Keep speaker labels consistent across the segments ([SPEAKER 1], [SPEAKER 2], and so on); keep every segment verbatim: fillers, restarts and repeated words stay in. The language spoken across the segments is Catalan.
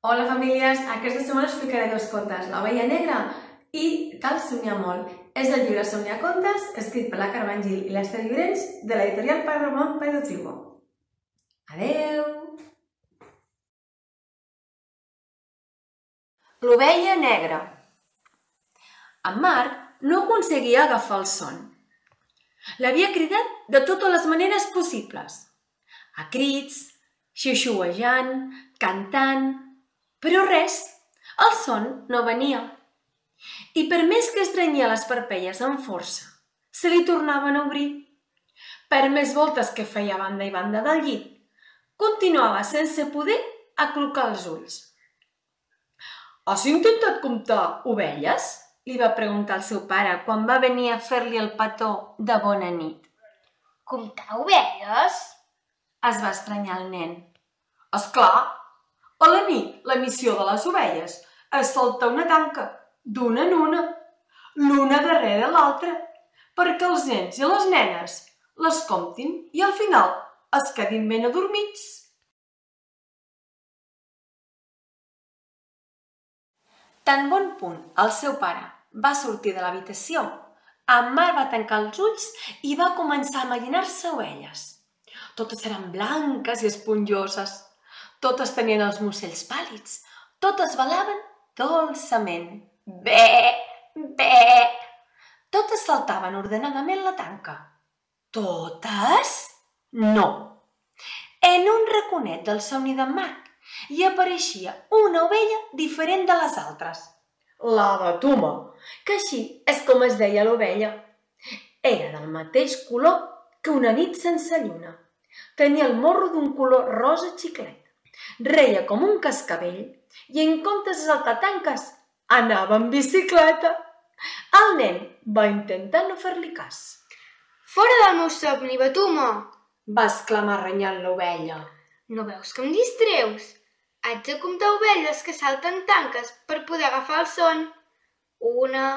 [SPEAKER 1] Hola famílies, aquesta setmana us explicaré dos contes, l'ovella negra i Cal somiar molt. És del llibre Somniar contes, escrit per la Carmen Gil i l'Ester Llorenç, de l'editorial Pare Ramon Pedro Trigo. Adeu!
[SPEAKER 2] L'ovella negra. En Marc no aconseguia agafar el son. L'havia cridat de totes les maneres possibles. A crits, xiuxiuejant, cantant, però res, el son no venia. I per més que estrenyia les parpelles amb força, se li tornaven a obrir. Per més voltes que feia a banda i banda del llit, continuava sense poder aclucar els ulls. «Has intentat comptar ovelles?», li va preguntar el seu pare quan va venir a fer-li el petó de bona nit.
[SPEAKER 3] «Comptar ovelles?»,
[SPEAKER 2] es va estranyar el nen. «Esclar, a la nit la missió de les ovelles és saltar una tanca, d'una en una, l'una darrere l'altra, perquè els nens i les nenes les comptin i al final es quedin ben adormits». Tan bon punt el seu pare va sortir de l'habitació, en Marc va tancar els ulls i va començar a imaginar-se ovelles. Totes eren blanques i esponjoses, totes tenien els mussells pàl·lids, totes balaven dolçament. Bé, bé! Totes saltaven ordenadament la tanca. Totes? No! En un raconet del somni d'en Marc hi apareixia una ovella diferent de les altres. La Batuma, que així és com es deia l'ovella. Era del mateix color que una nit sense lluna. Tenia el morro d'un color rosa xiclet. Reia com un cascavell i en comptes de saltar tanques anava en bicicleta. El nen va intentar no fer-li cas.
[SPEAKER 3] «Fora del meu somni, Batuma!»,
[SPEAKER 2] va exclamar renyant l'ovella.
[SPEAKER 3] «No veus que em distreus? Haig de comptar ovelles que salten tanques per poder agafar el son. Una,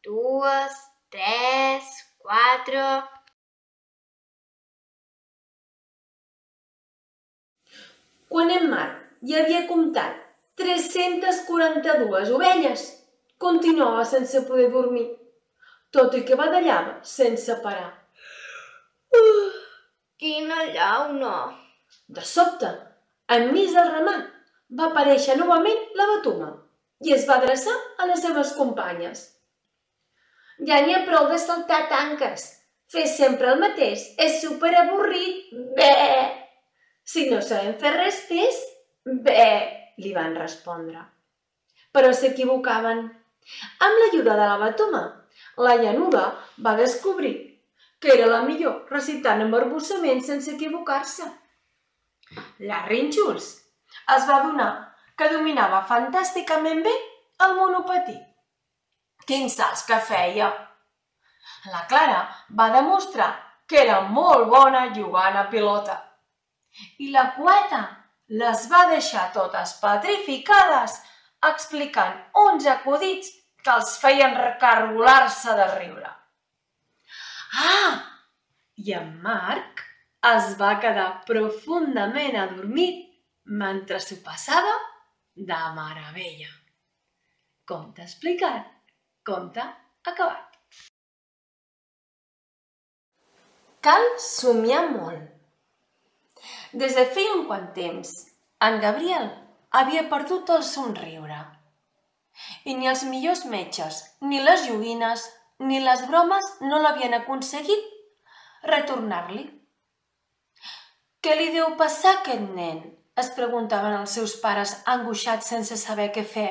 [SPEAKER 3] dues, tres, quatre...»
[SPEAKER 2] Quan en Marc hi havia comptat tres-centes quaranta-dues ovelles, continuava sense poder dormir, tot i que badallava sense parar.
[SPEAKER 3] Uh, quina llauna!
[SPEAKER 2] De sobte, enmig del ramat, va aparèixer novament la Batuma i es va adreçar a les seves companyes. «Ja n'hi ha prou de saltar tanques. Fer sempre el mateix és superavorrit. Bé! Si no sabem fer res, fes bé!», li van respondre. Però s'equivocaven. Amb l'ajuda de la Batuma, la llanuda va descobrir que era la millor recitant amb arbussament sense equivocar-se. La Rínxols es va adonar que dominava fantàsticament bé el monopatí. Quins salts que feia! La Clara va demostrar que era molt bona jugant a pilota. I la Poeta les va deixar totes petrificades explicant uns acudits que els feien recargolar-se de riure. Ah! I en Marc es va quedar profundament adormit mentre s'ho passava de meravella. Conte explicat, conte acabat. Cal somiar molt. Des de feia un quant temps, en Gabriel havia perdut el somriure. I ni els millors metges, ni les joguines, ni les bromes no l'havien aconseguit retornar-li. «Què li deu passar a aquest nen?», es preguntaven els seus pares angoixats sense saber què fer.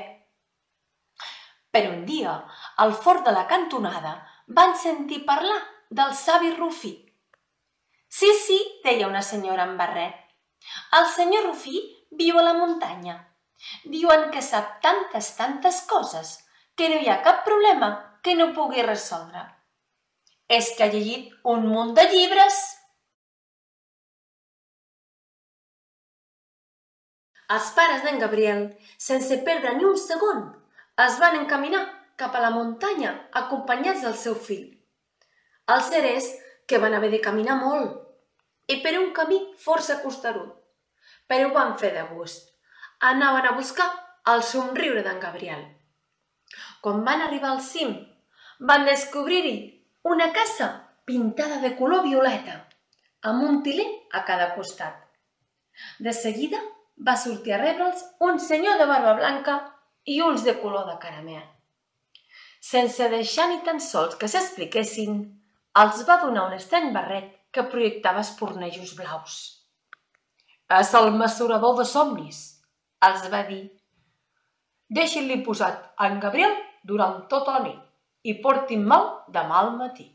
[SPEAKER 2] Però un dia, al fort de la cantonada, van sentir parlar del savi Rufí. «Sí, sí», deia una senyora amb barret. «El senyor Rufí viu a la muntanya. Diuen que sap tantes, tantes coses que no hi ha cap problema que no pugui resoldre. És que ha llegit un munt de llibres». Els pares d'en Gabriel, sense perdre ni un segon, es van encaminar cap a la muntanya acompanyats del seu fill. El cert és que van haver de caminar molt i per un camí força costerut, però ho van fer de gust. anaven a buscar el somriure d'en Gabriel. Quan van arribar al cim, van descobrir-hi una casa pintada de color violeta, amb un tiler a cada costat. De seguida va sortir a rebre'ls un senyor de barba blanca i ulls de color de caramel. Sense deixar ni tan sols que s'expliquessin, els va donar un estrany barret que projectava espurnejos blaus. «És el mesurador de somnis», els va dir. «Deixin-li posat a en Gabriel durant tota la nit i portin-me'l demà al matí».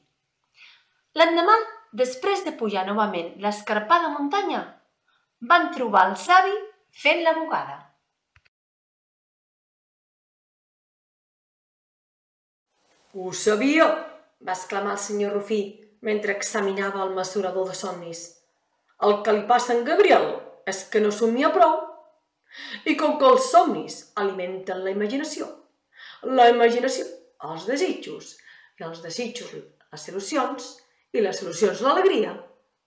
[SPEAKER 2] L'endemà, després de pujar novament l'escarpada muntanya, van trobar el savi fent la bugada. «Ho sabia!», va exclamar el senyor Rufí mentre examinava el mesurador de somnis. «El que li passa a en Gabriel és que no somia prou. I com que els somnis alimenten la imaginació, la imaginació els desitjos, i els desitjos les il·lusions, i les il·lusions l'alegria,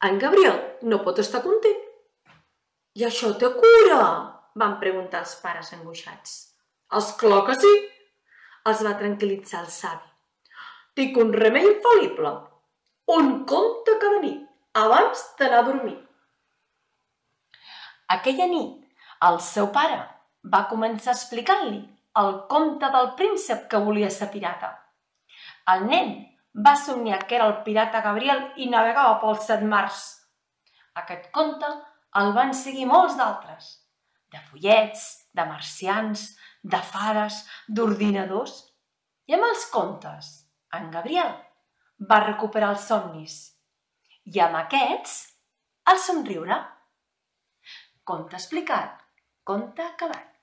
[SPEAKER 2] en Gabriel no pot estar content». «I això té cura?», van preguntar els pares angoixats. «És clar que sí!», els va tranquil·litzar el savi. «Dic un remei infal·lible, un conte cada nit, abans d'anar a dormir». Aquella nit, el seu pare va començar explicant-li el conte del príncep que volia ser pirata. El nen va somniar que era el pirata Gabriel i navegava pels set mars. Aquest conte el van seguir molts d'altres, de follets, de marcians, de fades, d'ordinadors. I amb els contes, en Gabriel va recuperar els somnis i amb aquests el somriure. Conte explicat, conte acabat.